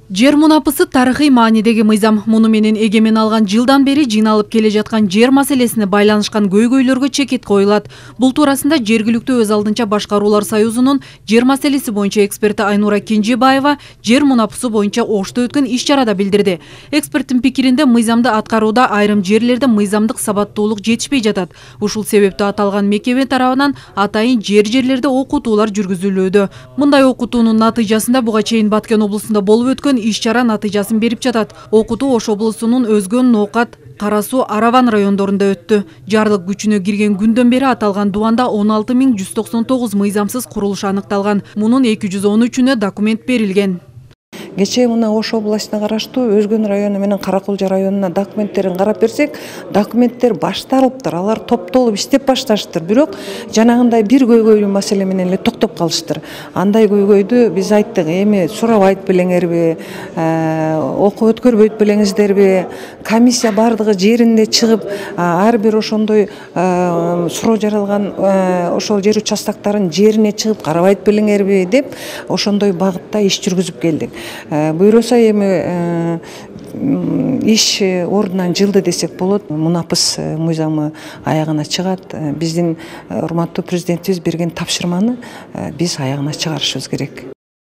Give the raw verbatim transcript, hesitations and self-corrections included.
Жер мунапысы тарыхый маанидеги мыйзам. Муну менен эгемен алган жылдан бери жыйналып келе жаткан жер маселесине байланышкан көйгөйлөргө чекит коюлат. Бул туурасында жергиликтүү өз алдынча башкаруулар союзунун жер маселеси боюнча эксперти Айнура Кенжебаева жер мунапысы боюнча Ошто өткөн иш-чарада билдирди. Эксперттин пикиринде мыйзамды аткарууда айрым жерлерде мыйзамдык сабаттуулук жетишпей жатат. Ушул себептүү аталган мекеме тарабынан атайын жер жерлерде окутуулар жүргүзүлүүдө. Мындай окутуунун натыйжасында буга чейин Баткен облусунда болуп өткөн иш-чара натыйжасын берип жатат. Окутуу Ош облусунун Өзгөн, Ноокат, Кара Суу, Араван райондорунда өттү. Жарлык күчүнө кирген күндөн бери аталган дубанда он алты миң жүз токсон тогуз мыйзамсыз курулуш аныкталган. Мунун эки жүз он үчүнө документ берилген. Кечээ мына Ош областына караштуу Өзгөн району менен Каракулжа районуна документтерин карап берсек, документтер башталыптыр, алар топтолуп иштеп башташтыр. Бирок жанагындай бир көйгөйлүү маселе менен эле токтоп калыштыр. Андай көйгөйдү биз айттык, эми сурабайт белеңерби, окуп өткөрбөйт белеңиздерби, комиссия бардыгы жеринде чыгып, ар бир ошондой суроо жаралган ошол жер участоктарын жерине чыгып карабайт белеңерби деп ошондой багытта иш жүргүзүп келдик. Буйруса эми иш ордунан жылды десек болот. Мунапыс мыйзамы аягына чыгат. Биздин урматтуу президентибиз берген тапшырманы биз аягына чыгарышыбыз керек.